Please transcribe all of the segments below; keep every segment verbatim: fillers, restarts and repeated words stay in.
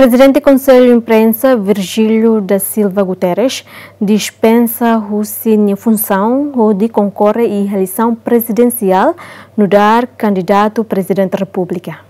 Prezidente Konsellu Imprensa, Virgílio da Silva Guterres, dispensa husi nia funsaun hodi konkorre iha eleisaun prezidensiál nu'udar kandidatu Prezidente Repúblika.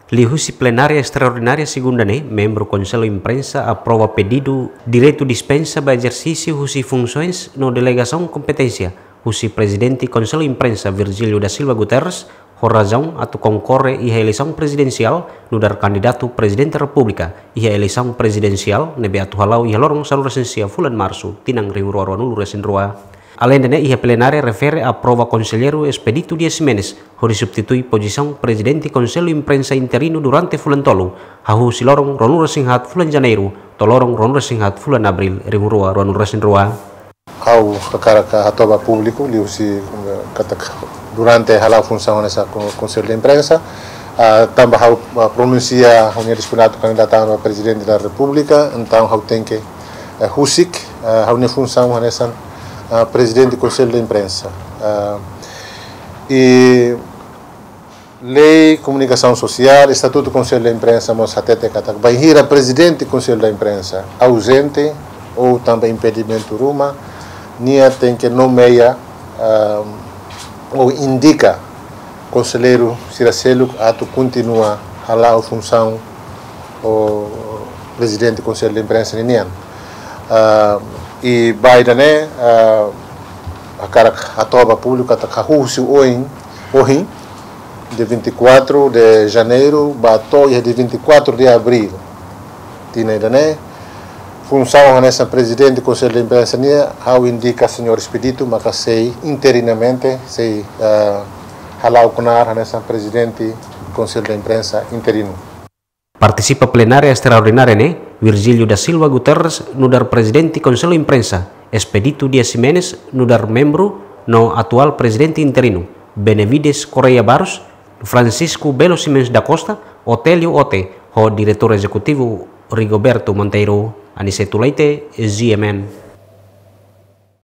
Liuhusi plenária estraordinária segunda ne'e, membru Konsellu Imprensa aprova pedidu direitu dispensa ba ezersísiu husi funsoens no delegasaun kompeténsia husi Prezidente Konsellu Imprensa, Virgílio da Silva Guterres, ho razaun atu konkorre iha eleisaun prezidensiál nu'udar kandidatu Prezidente Repúblika iha eleisaun prezidensiál ne'ebé atu hala'o iha loron sanulu-resin-sia fulan Marsu, tinan rihun rua ruanulu-resin-rua. Aleinde ne'e, iha plenária refere aprova konselleiru Expedito Dias Ximenes hodi substitui pozisaun Prezidente Konsellu Imprensa interinu durante fulan tolu, hahú husi loron ruanulu-resin-haat fulan Janeiru to'o loron ruanulu-resin-haat fulan Abríl, rihun rua ruanulu-resin-rua. Ha'u hakarak hato'o ba públiku liuhusi, eh, katak durante hala'o funsaun hanesan Ko-, Konsellu Imprensa, ah, tanba ha'u, ah, pronunsia ha'u-nia disponibilitu kandidata ba Prezidente da Repúblika, entaun ha'u tenke, eh, husik, eh, ha'u-nia funsaun hanesan, ah, Prezidente Konsellu Imprensa. Ah, i lei komunikasaun sosiál, Estatutu Konsellu da Imprensa mós hatete katak bainhira Prezidente Konsellu da Imprensa auzente ou tanba impedimentu ruma, nia tenke nomeia, ah, ou indika konselleiru sira seluk atu kontinua hala'o funsaun ho Prezidente Konsellu da Imprensa ninian. Ah, i ba ida-ne'e, ah, hakarak hato'o ba públiku katak hahú husi oin, ohin, dia vinte e quatro de Janeiro ba to'o iha dia vinte e quatro de Abril tinan ida-ne'e, funsaun hanesan Prezidente Konsellu da Imprensa nian, ha'u indika Señór Expedito maka sei interinamente, sei, ah, hala'o knaar hanesan Prezidente Konsellu da Imprensa interinu. Partisipa plenária estraordinária ne'e, Virgílio da Silva Guterres nu'udar Prezidente Konsellu Imprensa, Expedito Dias Ximenes nu'udar membru no atuál Prezidente interinu, Benevides Correia Barros, Francisco Belo Ximenes da Costa, Otélio Ote, ho Diretór Ezekutivu Rigoberto Monteiro. Aniceto Leite, G M N.